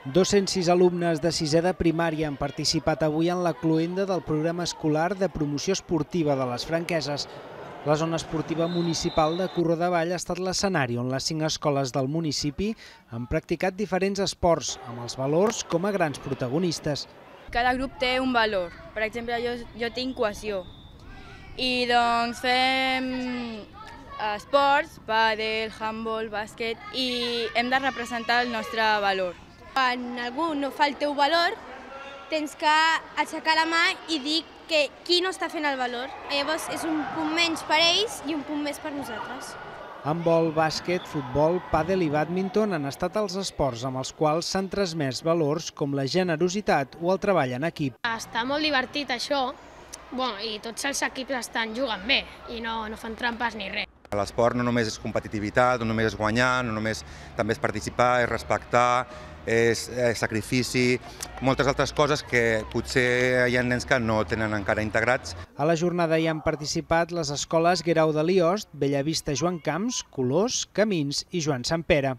206 alumnes de sisè de primària han participat avui en la cloenda del programa escolar de promoció esportiva de les Franqueses. La zona esportiva municipal de Corrodavall ha estat l'escenari on les 5 escoles del municipi han practicat diferents esports, amb els valors com a grans protagonistes. Cada grup té un valor. Per exemple, jo tinc cohesió. I doncs fem esports, pàdel, handbol, bàsquet, i hem de representar el nostre valor. Quan algú no fa el teu valor, tens que aixecar la mà i dir qui no està fent el valor. Llavors és un punt menys per ells i un punt més per nosaltres. Handbol, bàsquet, futbol, pàdel i bàdminton han estat els esports amb els quals s'han transmès valors com la generositat o el treball en equip. Està molt divertit això, i tots els equips juguen bé i no fan trampes ni res. L'esport no només és competitivitat, no només és guanyar, també és participar, és respectar, és sacrifici, moltes altres coses que potser hi ha nens que no tenen encara integrats. A la jornada hi han participat les escoles Guerau de Liost, Bellavista Joan Camps, Colors, Camins i Joan Sant Pere.